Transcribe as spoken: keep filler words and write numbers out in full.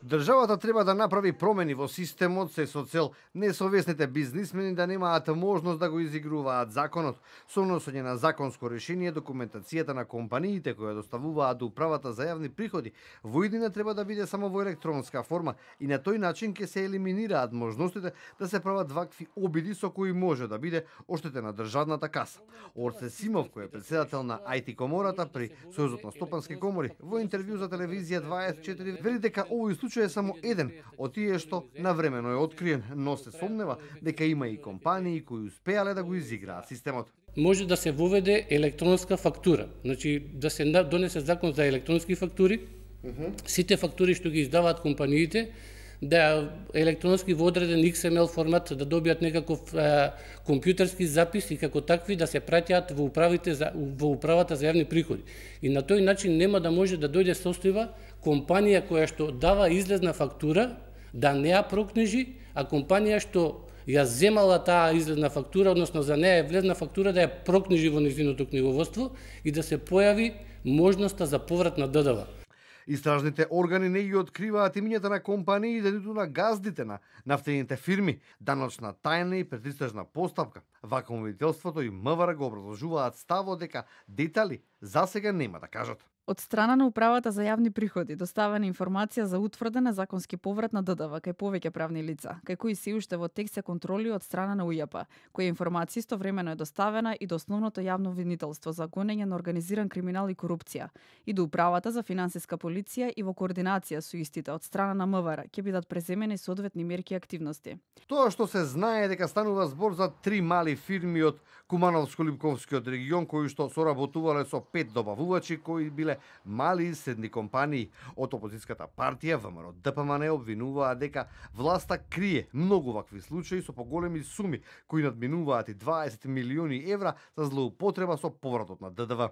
Државата треба да направи промени во системот се со цел несовесните бизнисмени да немаат можност да го изигруваат законот. Со носење на законско решение, документацијата на компаниите кои доставуваат до управата за јавни приходи во иднина треба да биде само во електронска форма и на тој начин ќе се елиминираат можностите да се прават вакви обиди со кои може да биде оштетена државната каса. Орце Симов, кој е председател на ај ти комората при Сојузот на стопански комори, во интервју за телевизија дваесет и четири вели дека овој случај е само еден од тие што навремено е откриен, но се сомнева дека има и компании кои успеале да го изиграат системот. Може да се воведе електронска фактура, значи да се донесе закон за електронски фактури, uh -huh. Сите фактури што ги издаваат компаниите, да електронски во одреден икс ем ел формат да добијат некаков е, компјутерски запис и како такви да се праќаат во управите за во управата за јавни приходи. И на тој начин нема да може да дојде состојба компанија која што дава излезна фактура да не ја прокнижи, а компанија што ја земала таа излезна фактура, односно за неја е влезна фактура да ја прокнижи во нејзиното книговодство и да се појави можноста за поврат на д д в. Истражните органи не ги откриваат имињата на компаниите, ниту на газдите на нафтените фирми. Даночна тајна и предистражна постапка. Вакуумовителството и м в р го образложуваат ставот дека детали засега нема да кажат. Од страна на управата за јавни приходи доставена информација за утврдена законски поврат на д д в кај повеќе правни лица, кај кои се уште во тек се контроли од страна на у ј п, која информација истовремено е доставена и до основното јавно обвинителство за гонење на организиран криминал и корупција, и до управата за финансиска полиција и во координација со истите од страна на м в р ќе бидат преземени соодветни мерки и активности. Тоа што се знае дека станува збор за три мали фирми од Кумановско-Липковскиот регион кои што соработувале со пет добавувачи кои биле мали и средни компании. Од опозицијската партија Вэ Ем Р Д П М Н обвинуваа дека власта крие многу вакви случаи со поголеми суми кои надминуваат и дваесет милиони евра за злоупотреба со повратот на д д в.